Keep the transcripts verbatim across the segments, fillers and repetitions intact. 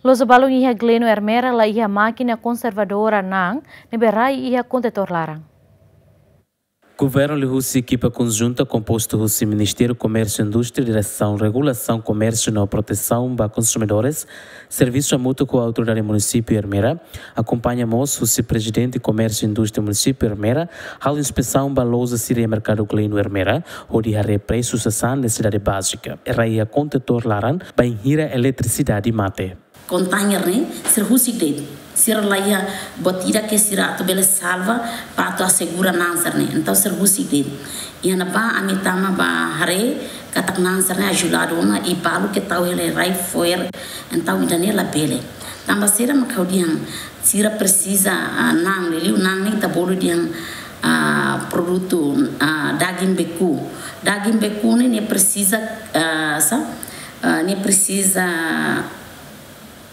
Loja balun iha Gleno Ermera la iha mákina konservadora na'an ne'ebé rai iha kontetór laran. Governu liuhusi ekipa konjunta kompostu husi Ministériu Komérsiu Indústria, Diresaun Regulasaun Komérsiu no Protesaun ba Konsumidores, servisu hamutuk ho Autoridade Munisípiu Ermera, akompaña mós husi Prezidente Komérsiu Indústria Munisípiu Ermera, halo inspesaun ba loja sira iha Merkadu Gleno Ermera, hodi haree presu sasán nesesidade bázika, rai iha kontetór laran, bainhira eletrisidade mate. Kontainer ne'e, sira husik de'it. Sira la iha buat ida ke sira atu bele salva, para atu asegura na'an sira-ne'e. Entaun sira husik de'it. Iha ne'ebá ami tama ba haree, katak na'an sira-ne'e ajudadu ona, i balu ke tau hela iha rai fo'er. Entaun ida-ne'e labele. Tanba saida mak ha'u dehan, sira presiza, ah, na'an, liuliu na'an ne'e ita bolu dehan, ah, produtu, ah, daging beku. Daging beku ne'e, nia presiza, ah, sá, ah, nia presiza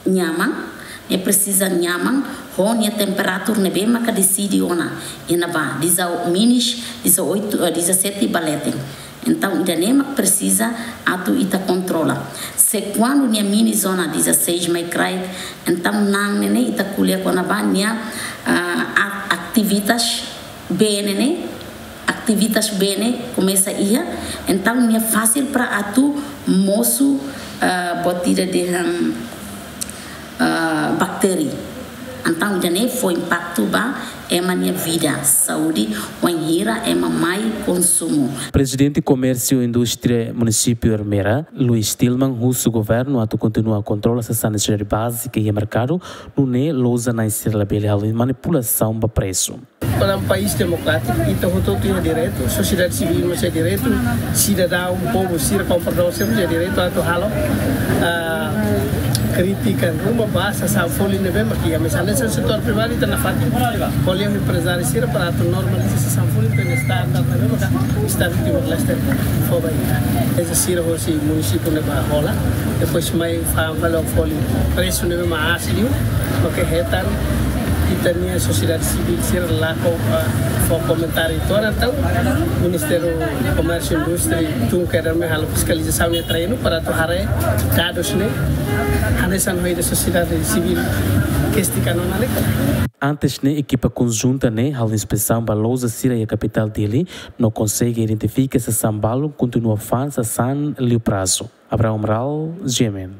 nyaman, nia presiza nyaman, ho nia temperatura ne'ebé maka deside ona, iha ne'ebá, dezoito, minus dezoito, eh, dezassete ba leten. Entaun, ida-ne'e mak presiza atu ita kontrola. Se kuandu nia minus ona dezasseis mai kraik, entaun na'an ne'e ne'e ita ko'alia kona-ba nia, ah, a-, ativitas bee ne'e ne'e, ativitas bee ne'e komesa iha, entaun nia fasil para atu mosu, ah, buat ida dehan, ah, baktéria. Entaun ida-ne'e fó impaktu ba ema nia vida, saúde, wainhira ema mai konsumu. Prezidente Komérsiu Indústria Munisípiu Ermera, Luis Tilman, husu governu atu kontinua kontrola sasán nesesidade bázika iha merkadu, nune'e loja na'in sira labele halo manipulasaun ba presu. Para um país democrático, ita hotu-hotu iha direitu, sosiedade sivíl mós iha direitu, sidadaun, povu, sira kompradór, sira mós iha direitu atu halo, ah, krítika ruma ba sasán folin ne'ebé mak iha, mas hanesan setór privadu ita nafatin. Ko'alia ho emprezáriu sira para atu normaliza sasán folin, para standar ne'ebé maka Estadu Timor-Leste fó ba ita. Eza sira hosi munisípiu ne'ebá hola, depois mai fa'an fali folin presu ne'ebé mak aas liu, maka hetan ita-nia sosiedade sivíl sira lakon, ah, fó komentáriu. Entaun, Ministériu Komérsiu Indústria tun kedas mai halo fiskalizasaun nia treinu para atu haree dadus ne'e, hanesan ho ida sosiedade sivíl kestiona ne'e. Antes ne'e, ekipa konjunta ne'e halo inspesaun ba loja sira iha kapitál Dili, no konsege identifika sasán balun kontinua fa'an sasán liu prazu. Abraham Amaral, G M N.